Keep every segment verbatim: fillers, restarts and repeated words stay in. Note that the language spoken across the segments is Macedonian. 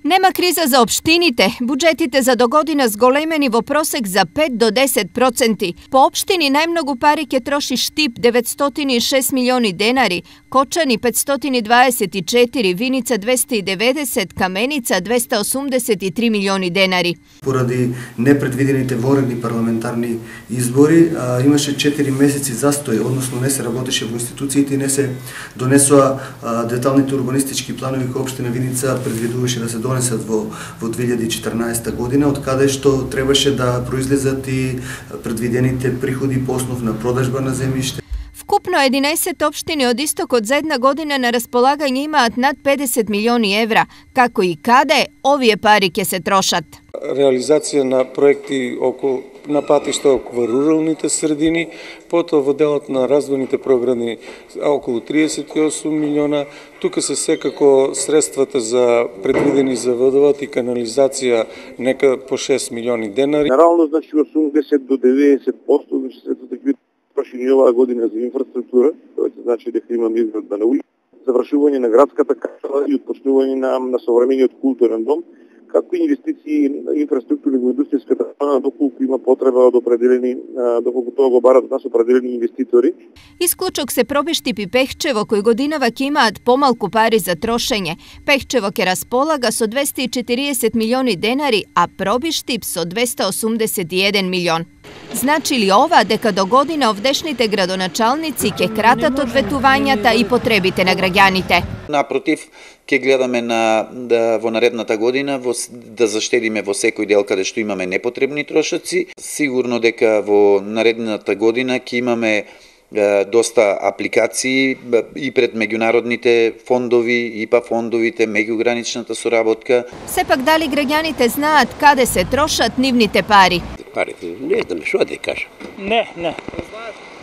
Нема криза за општините. Буџетите за догодина зголемени во просек за пет до десет проценти. По општини најмногу пари ќе троши Штип деветстотини и шест милиони денари, Кочани петстотини дваесет и четири, Виница двесте и деветдесет, Каменица двесте осумдесет и три милиони денари. Поради непредвидените воредни парламентарни избори а, имаше четири месеци застој, односно не се работеше во институциите и не се донесоа а, деталните урбанистички планови кои општина Виница предвидуваше да се донесат во, во две илјади и четрнаесета година, од каде што требаше да произлезат и предвидените приходи по основ на продажба на земјиште. Вкупно единаесет општини од истокот за една година на располагање имаат над педесет милиони евра. Како и каде овие пари ќе се трошат? Реализација на проекти околу на патишта околу руралните средини, потоа во делот на развојните програми околу триесет и осум милиона. Тука се секако средствата за предвидени за водовод и канализација нека по шест милиони денари. Генерално значи осумдесет до деветдесет проценти значи средствата ќе бидат трошени оваа година за инфраструктура, тоа значи дека имаме изградба на улица, завршување на градската капела и отпочнување на, на современиот културен дом, како и инвестиции инфраструктури во индустријската зона, доколку има потреба од определени, доколку тоа го барат од нас определени инвеститори. Исклучок се проби Штип и Пехчево, кои годинава ќе имаат помалку пари за трошење. Пехчево ќе располага со двесте и четириесет милиони денари, а проби Штип со двесте осумдесет и еден милион. Значи ли ова дека до година овдешните градоначалници ќе кратат од ветувањата и потребите на граѓаните? Напротив, ќе гледаме на да, во наредната година во, да заштедиме во секој дел каде што имаме непотребни трошоци. Сигурно дека во наредната година ќе имаме е, доста апликации и пред меѓународните фондови, и па фондовите, меѓуграничната соработка. Сепак дали граѓаните знаат каде се трошат нивните пари? Парите, не знам што да кажам. Не, не.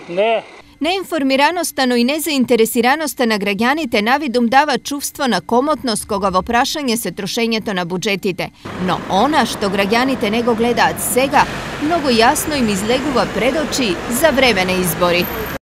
Не. Неинформираноста, но и незаинтересираноста на граѓаните навидум дава чувство на комотност кога во прашање се трошењето на буџетите. Но она што граѓаните не го гледаат сега, многу јасно им излегува пред очи за време на избори.